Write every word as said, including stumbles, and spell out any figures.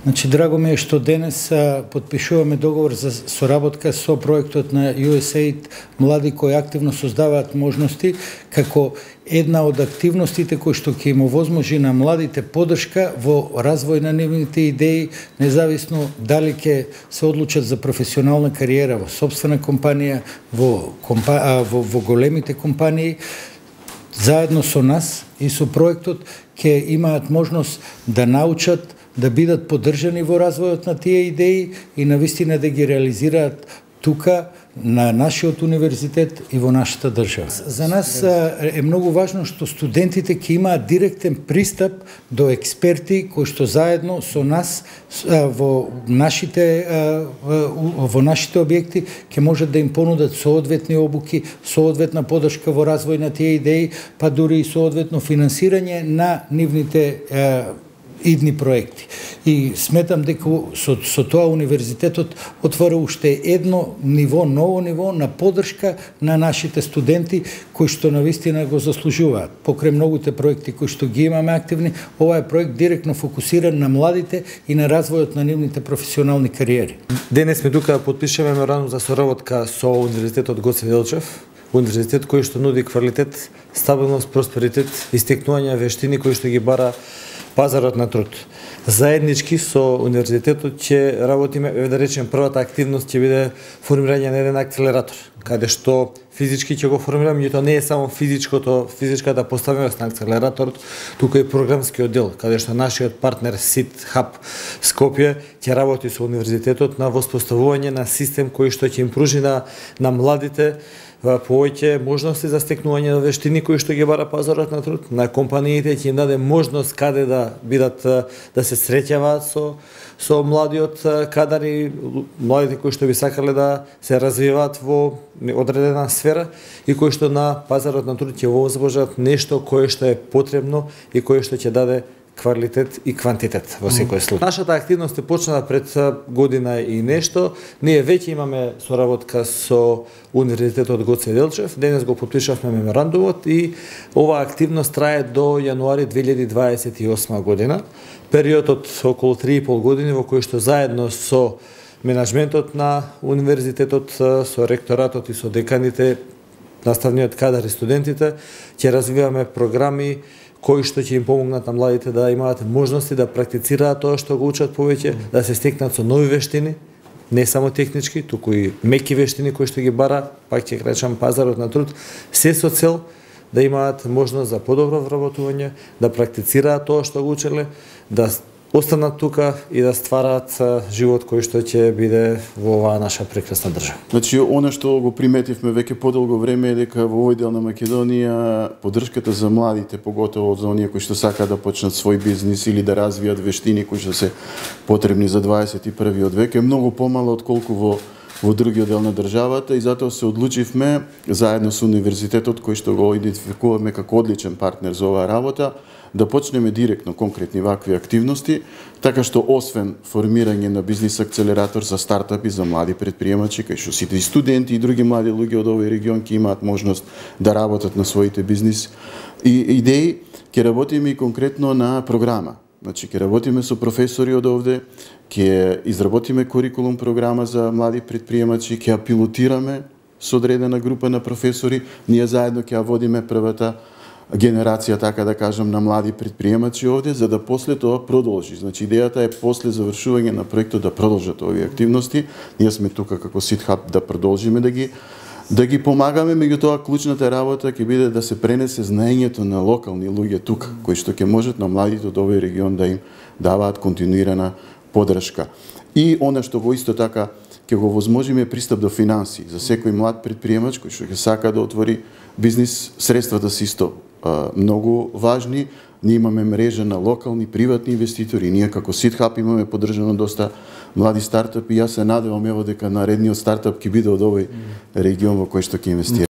Значи, драго ми е што денес а, подпишуваме договор за соработка со проектот на ю ес ей ай ди млади кои активно создаваат можности, како една од активностите кои што ќе им овозможи на младите подршка во развој на нивните идеи, независно дали ќе се одлучат за професионална кариера во собствена компанија, во, компа... а, во, во големите компании. Заедно со нас и со проектот ќе имаат можност да научат, да бидат поддржани во развојот на тие идеи и навистина да ги реализираат тука на нашиот универзитет и во нашата држава. За нас е многу важно што студентите ќе имаат директен пристап до експерти кои што заедно со нас во нашите во нашите објекти ќе можат да им понудат соодветни обуки, соодветна поддршка во развој на тие идеи, па дури и соодветно финансирање на нивните идни проекти. И сметам дека со, со тоа универзитетот отвора уште едно ниво, ново ниво на поддршка на нашите студенти кои што навистина го заслужуваат. Покрај многуте проекти кои што ги имаме активни, ова е проект директно фокусиран на младите и на развојот на нивните професионални кариери. Денес сме тука подпишуваме меморандум за соработка со Универзитетот Гоце Делчев, универзитет кој што нуди квалитет, стабилност, просперитет и стекнување вештини кои што ги бара пазарот на труд. Заеднички со универзитетот ќе работиме, да речем, првата активност ќе биде формирање на еден акцелератор, каде што физички ќе го формираме, и тоа не е само физичкото, физичката поставеност на акцелераторот, туку и програмскиот дел, каде што нашиот партнер Сит Хаб Скопје ќе работи со универзитетот на воспоставување на систем кој што ќе им пружи на, на младите повеќе можности за стекнување на вештини кои што ги бара пазарот на труд, на компаниите ќе им даде можност каде да бидат, да се среќаваат со со младиот кадар и младите кои што би сакале да се развиваат во одредена сфера и кои што на пазарот на труд ќе возможат нешто кое што е потребно и кое што ќе даде квалитет и квантитет во секој случај. Нашата активност е почнала пред година и нешто. Ние веќе имаме соработка со Универзитетот Гоце Делчев. Денес го подпишавме меморандумот и оваа активност трае до јануари две илјади дваесет и осма година. Периодот околу три и пол години во кој што заедно со менаџментот на универзитетот, со ректоратот и со деканите, наставниот кадар и студентите ќе развиваме програми кои што ќе им помогнат на младите да имаат можности да практицираат тоа што го учат повеќе, да се стекнат со нови вештини, не само технички, туку и меки вештини кои што ги бара, пак ќе речам, пазарот на труд, се со цел да имаат можност за подобро вработување, да практицираат тоа што го учеле, да останат тука и да ствараат живот кој што ќе биде во оваа наша прекрасна држава. Значи, она што го приметивме веќе подолго време е дека во овој дел на Македонија поддршката за младите, поготово за оние кои што сакаат да почнат свој бизнис или да развијат вештини кои што се потребни за дваесет и првиот век, е многу помала отколку во во другиот дел на државата, и затоа се одлучивме заедно со универзитетот кој што го идентификуваме како одличен партнер за оваа работа, да почнеме директно конкретни вакви активности, така што освен формирање на бизнис акцелератор за стартапи, за млади предприемачи, кај што сите и студенти и други млади луѓе од овој регион ќе имаат можност да работат на своите бизнис и идеи, ќе работиме и конкретно на програма. Значи, ќе работиме со професори од овде, ќе изработиме курикулум програма за млади предприемачи, ќе ја пилотираме со одредена група на професори, ние заедно ќе ја водиме првата генерација, така да кажам, на млади предприемачи овде, за да после тоа продолжи. Значи, идејата е после завршување на проектот да продолжат овие активности. Ние сме тука како Сит Хаб да продолжиме да ги да ги помагаме, меѓутоа клучната работа ќе биде да се пренесе знаењето на локални луѓе тука, кои што ќе можат на младите од овој регион да им даваат континуирана поддршка. И она што го исто така ќе го возможиме пристап до финанси за секој млад предприемач кој што ќе сака да отвори бизнис. Средствата се исто а, многу важни. Ние имаме мрежа на локални приватни инвеститори. Ние како Сит Хаб имаме поддржано доста млади стартапи. Јас се надевам ево дека наредниот стартап ќе биде од овој регион во кој што ќе инвестира.